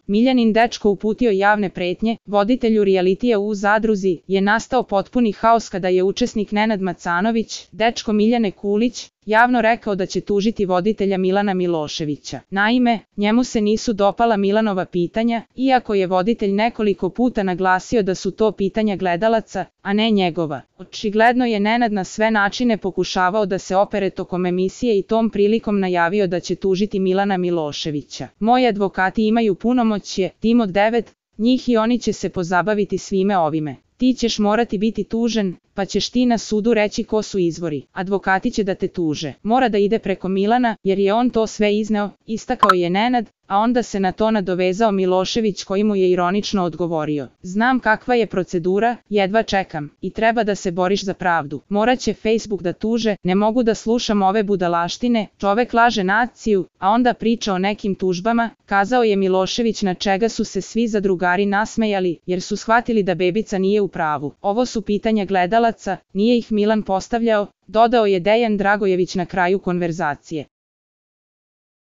Miljanin dečko uputio javne pretnje, voditelju realitija u Zadruzi je nastao potpuni haos kada je učesnik Nenad Macanović, dečko Miljane Kulić, javno rekao da će tužiti voditelja Milana Miloševića. Naime, njemu se nisu dopala Milanova pitanja, iako je voditelj nekoliko puta naglasio da su to pitanja gledalaca, a ne njegova. Očigledno je Nenad na sve načine pokušavao da se opere tokom emisije i tom prilikom najavio da će tužiti Milana Miloševića. Moji advokati imaju punomoćje, tim od 9 njih i oni će se pozabaviti svime ovime. Ti ćeš morati biti tužen, pa ćeš ti na sudu reći ko su izvori. Advokati će da te tuže. Mora da ide preko Milana, jer je on to sve izneo, istakao je Nenad, a onda se na to nadovezao Milošević koji mu je ironično odgovorio. Znam kakva je procedura, jedva čekam. I treba da se boriš za pravdu. Morat će Facebook da tuže, ne mogu da slušam ove budalaštine, čovek laže naciju, a onda priča o nekim tužbama, kazao je Milošević, na čega su se svi zadrugari nasmejali, jer su shvatili da bebica nije u pravu. Ovo su pitanja gledalaca, nije ih Milan postavljao, dodao je Dejan Dragojević na kraju konverzacije.